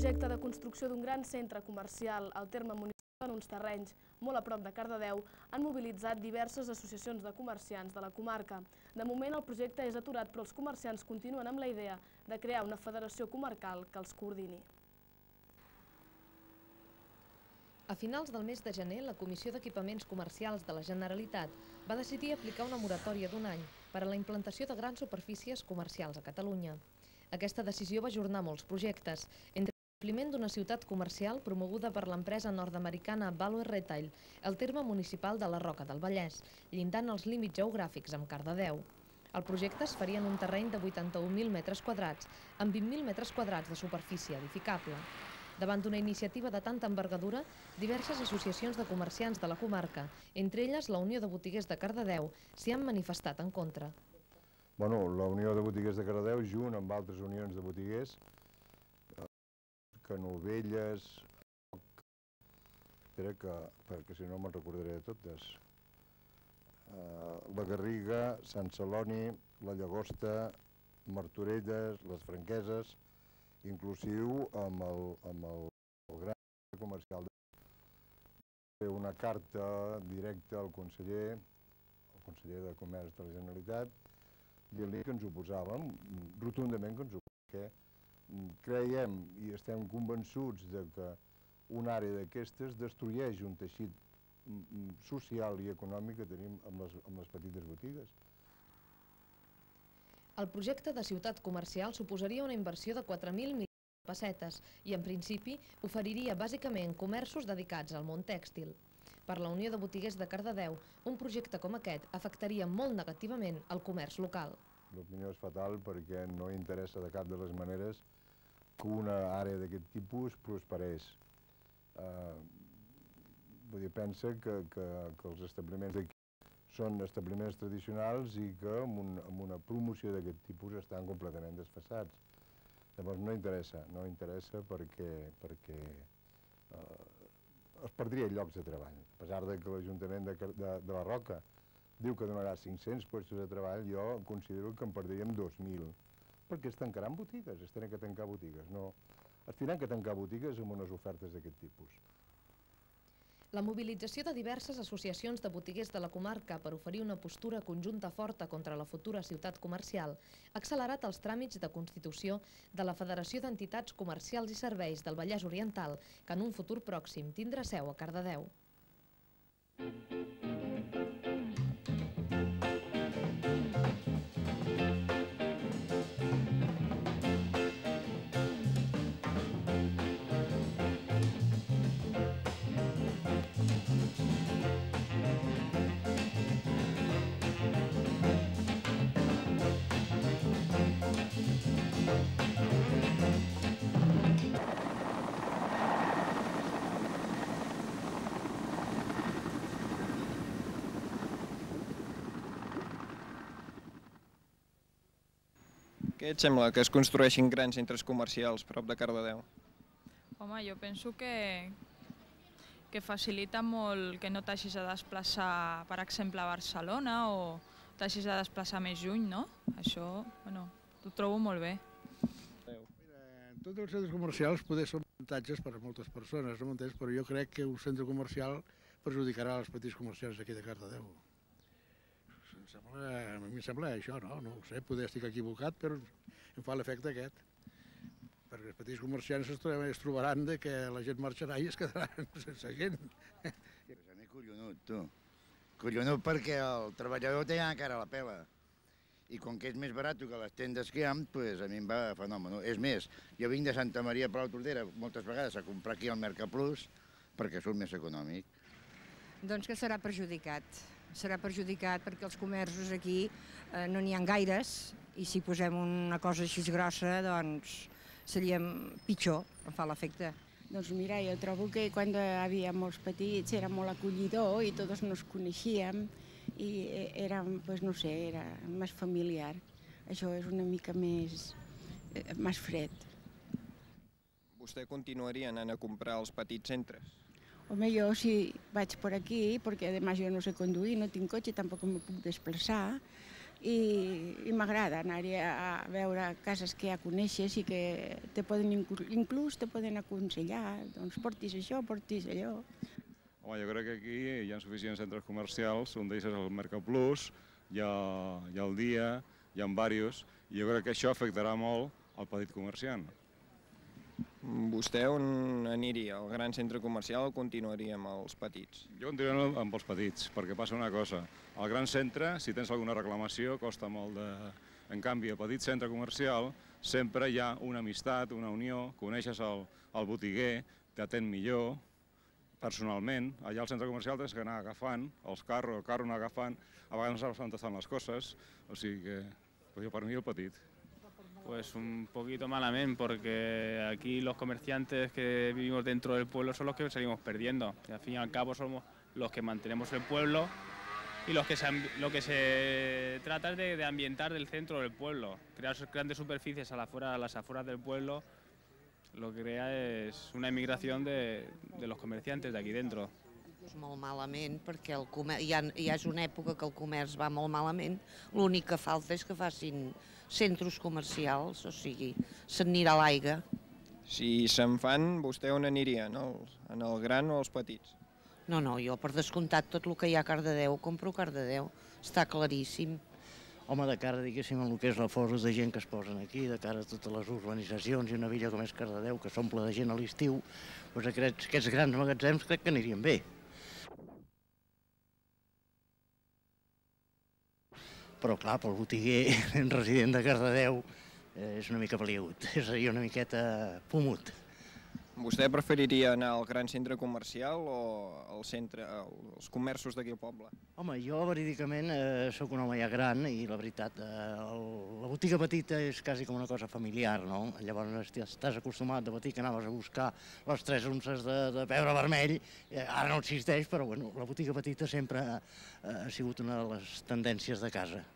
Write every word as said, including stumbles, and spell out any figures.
projecte de construcció d'un gran centre comercial al terme municipal en uns terrenys molt a prop de Cardedeu han mobilitzat diverses associacions de comerciants de la comarca. De moment el projecte és aturat, però els comerciants continuen amb la idea de crear una federació comarcal que els coordini. A finals del mes de gener, la Comissió d'Equipaments Comercials de la Generalitat va decidir aplicar una moratòria d'un any per a la implantació de grans superfícies comercials a Catalunya. Aquesta decisió va ajornar molts projectes, entre l'establiment d'una ciutat comercial promoguda per l'empresa nord-americana Value Retail, al terme municipal de la Roca del Vallès, llindant els límits geogràfics amb Cardedeu. El projecte es faria en un terreny de vuitanta-un mil metres quadrats, amb vint mil metres quadrats de superfície edificable. Davant d'una iniciativa de tanta envergadura, diverses associacions de comerciants de la comarca, entre elles la Unió de Botiguers de Cardedeu, s'hi han manifestat en contra. Bueno, la Unió de Botiguers de Cardedeu, junt amb altres unions de botiguers, Canovelles, perquè si no me'n recordaré de totes, la Garriga, Sant Celoni, la Llagosta, Martorelles, les Franqueses, inclusiu amb el, amb el, el gran comercial. Una carta directa al conseller, al conseller de Comerç de la Generalitat, dient-li que ens oposàvem, rotundament que ens oposàvem, perquè creiem i estem convençuts de que una àrea d'aquestes destrueix un teixit social i econòmic que tenim amb les, amb les petites botigues. El projecte de ciutat comercial suposaria una inversió de quatre mil milions de pessetes i, en principi, oferiria bàsicament comerços dedicats al món tèxtil. Per la Unió de Botiguers de Cardedeu, un projecte com aquest afectaria molt negativament el comerç local. L'opinió és fatal perquè no interessa de cap de les maneres que una àrea d'aquest tipus prosperés. Vull dir, pensa que, que, que els establiments d'aquí són establiments tradicionals i que amb, un, amb una promoció d'aquest tipus estan completament desfasats. Llavors no interessa, no interessa perquè, perquè eh, es perdria llocs de treball. A pesar de que l'Ajuntament de, de, de la Roca diu que donarà cinc-cents llocs de treball, jo considero que en perdríem dos mil, perquè es tancaran botigues, es tenen que tancar botigues, no, es tenen que tancar botigues amb unes ofertes d'aquest tipus. La mobilització de diverses associacions de botiguers de la comarca per oferir una postura conjunta forta contra la futura ciutat comercial ha accelerat els tràmits de constitució de la Federació d'Entitats Comercials i Serveis del Vallès Oriental, que en un futur pròxim tindrà seu a Cardedeu. Què et sembla que es construeixin grans centres comercials prop de Cardedeu? Home, jo penso que, que facilita molt que no t'hagis de desplaçar, per exemple, a Barcelona o t'hagis de desplaçar més lluny, no? Això, bueno, ho trobo molt bé. Mira, tots els centres comercials poder són avantatges per a moltes persones, no m'entens? Però jo crec que un centre comercial perjudicarà els petits comerciants d'aquí de Cardedeu. Em sembla, a mi em sembla això, no? No ho sé, poder estic equivocat, però em fa l'efecte aquest. Perquè els petits comerciants es trobaran que la gent marxarà i es quedaran sense gent. A mi collonut, tu. Collonut perquè el treballador té encara la pela. I com que és més barat que les tendes que hi ha, doncs a mi em va fenomen. És més, jo vinc de Santa Maria Palau Tordera moltes vegades a comprar aquí al Mercaplus perquè surt més econòmic. Doncs que serà perjudicat. Serà perjudicat perquè els comerços aquí no n'hi ha gaires i si posem una cosa així grossa, doncs seria pitjor, em fa l'efecte. Doncs mira, jo trobo que quan hi havia molts petits era molt acollidor i tots nos coneixíem i era, pues no sé, era més familiar. Això és una mica més, més fred. Vostè continuaria anant a comprar als petits centres? Home, jo si vaig per aquí, perquè además jo no sé conduir, no tinc cotxe, tampoc me puc desplaçar, i m'agrada anar-hi a veure cases que ja coneixes i que te poden, inclús te poden aconsellar, doncs portis això, portis allò. Home, jo crec que aquí hi ha suficients centres comercials, un d'ells és el Mercaplus, hi ha, hi ha el Dia, hi ha diversos, i jo crec que això afectarà molt al petit comerciant. Vostè on aniria? Al gran centre comercial o continuaria amb els petits? Jo continuaria amb els petits, perquè passa una cosa. Al gran centre, si tens alguna reclamació, costa molt de... En canvi, al petit centre comercial sempre hi ha una amistat, una unió, coneixes el, el botiguer, t'atén millor, personalment. Allà al centre comercial tens que anar agafant els carros, el carro anar agafant, a vegades no saps on estan les coses, o sigui que jo per mi el petit. Pues un poquito malamente, porque aquí los comerciantes que vivimos dentro del pueblo son los que salimos perdiendo. Y al fin y al cabo somos los que mantenemos el pueblo y los que se, lo que se trata es de, de ambientar del centro del pueblo. Crear grandes superficies a, la fuera, a las afueras del pueblo lo que crea es una emigración de, de los comerciantes de aquí dentro. Molt malament, perquè el comerç, ja, ja és una època que el comerç va molt malament. L'únic que falta és que facin centres comercials, o sigui, s'anirà a l'aigua. Si se'n fan, vostè on aniria? En el, en el gran o els petits? No, no, jo per descomptat tot el que hi ha a Cardedeu, compro a Cardedeu, està claríssim. Home, de cara, diguéssim, en el que és la força de gent que es posen aquí, de cara a totes les urbanitzacions i una villa com és Cardedeu, que s'omple de gent a l'estiu, doncs aquests, aquests grans magatzems crec que anirien bé. Però, clar, pel botiguer resident de Cardedeu és una mica peliagut, és a dir, una miqueta pomut. Vostè preferiria anar al gran centre comercial o al centre, als comerços d'aquí al poble? Home, jo verídicament eh, sóc un home ja gran i la veritat, eh, el, la botiga petita és quasi com una cosa familiar, no? Llavors estàs acostumat de petit que anaves a buscar les tres unces de, de pebre vermell, eh, ara no existeix, però bueno, la botiga petita sempre eh, ha sigut una de les tendències de casa.